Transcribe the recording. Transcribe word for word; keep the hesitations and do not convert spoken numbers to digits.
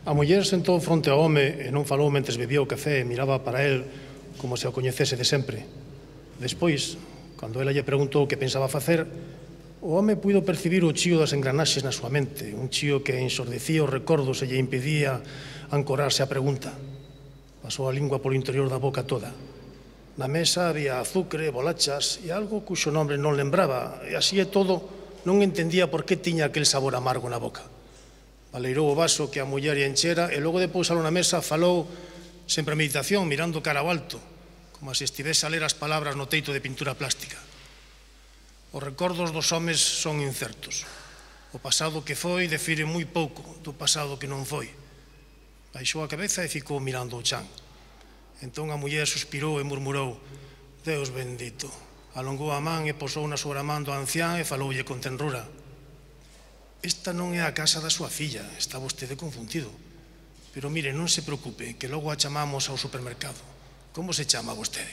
A muller sentou fronte ao home e non falou mentres bebía o café e miraba para el como se o coñecese de sempre. Despois, cando ela lle preguntou o que pensaba facer, o home puido percibir o chío das engranaxes na súa mente, un chío que ensordecía os recordos e lle impedía ancorarse á pregunta. Pasou a lingua polo interior da boca toda. Na mesa había azucre, bolachas e algo cuxo nombre non lembraba, e así e todo non entendía por que tiña aquel sabor amargo na boca. Baleirou o vaso que a muller lle enchera e logo de pousalo na mesa falou sen premeditación, mirando cara ao alto, como se estivese a ler as palabras no teito de pintura plástica. Os recordos dos homes son incertos. O pasado que foi defire moi pouco do pasado que non foi. Baixou a cabeza e ficou mirando o chan. Entón a muller suspirou e murmurou: Deus bendito. Alongou a man e posouna sobre a man do ancián e faloulle con tenrura: Esta non é a casa da súa filla, está vostede confundido. Pero mire, non se preocupe, que logo a chamamos ao supermercado. Como se chama vostede?